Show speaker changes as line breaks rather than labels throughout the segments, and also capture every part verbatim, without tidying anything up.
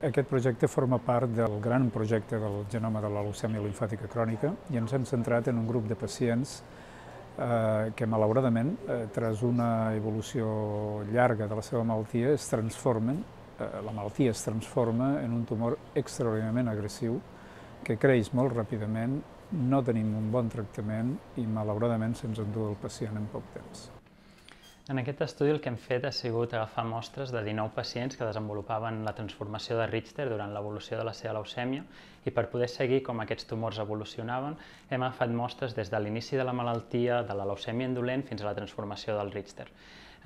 Aquest projecte forma part del gran projecte del genoma de la leucèmia limfàtica crònica i ens hem centrat en un grup de pacients eh, que, malauradament, eh, tras una evolució llarga de la seva malaltia, es transformen, eh, la malaltia es transforma en un tumor extraordinàriament agressiu que creix molt ràpidament, no tenim un bon tractament i, malauradament, se'ns endú el pacient en poc temps.
En aquest estudi el que hem fet ha sigut agafar mostres de dinou pacients que desenvolupaven la transformació de Richter durant l'evolució de la seva leucèmia i per poder seguir com aquests tumors evolucionaven hem agafat mostres des de l'inici de la malaltia, de la leucèmia indolent fins a la transformació del Richter.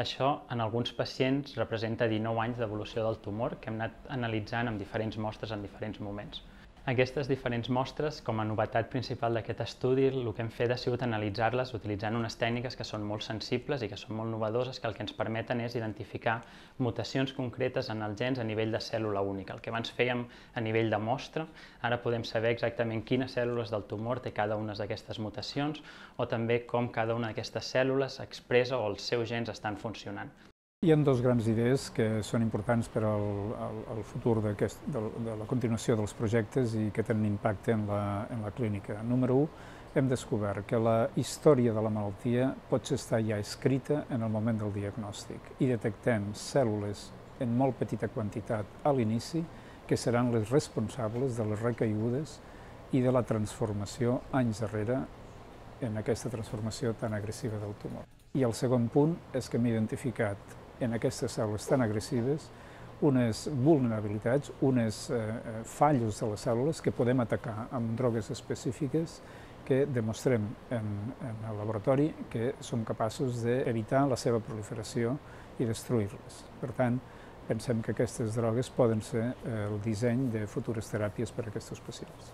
Això, en alguns pacients, representa dinou anys d'evolució del tumor que hem anat analitzant amb diferents mostres en diferents moments. Aquestes diferents mostres, com a novetat principal d'aquest estudi, el que hem fet ha sigut analitzar-les utilitzant unes tècniques que són molt sensibles i que són molt innovadores, que el que ens permeten és identificar mutacions concretes en els gens a nivell de cèl·lula única. El que abans fèiem a nivell de mostra, ara podem saber exactament quines cèl·lules del tumor té cada una d'aquestes mutacions o també com cada una d'aquestes cèl·lules expressa o els seus gens estan funcionant.
Hi ha dues grans idees que són importants per al, al, al futur de, de, de la continuació dels projectes i que tenen impacte en la, en la clínica. Número u, hem descobert que la història de la malaltia pot estar ja escrita en el moment del diagnòstic i detectem cèl·lules en molt petita quantitat a l'inici que seran les responsables de les recaigudes i de la transformació anys darrere en aquesta transformació tan agressiva del tumor. I el segon punt és que hem identificat en aquestes cèl·lules tan agressives unes vulnerabilitats, unes eh, fallos de les cèl·lules que podem atacar amb drogues específiques que demostrem en, en el laboratori que som capaços d'evitar la seva proliferació i destruir-les. Per tant, pensem que aquestes drogues poden ser el disseny de futures teràpies per a aquests pacients.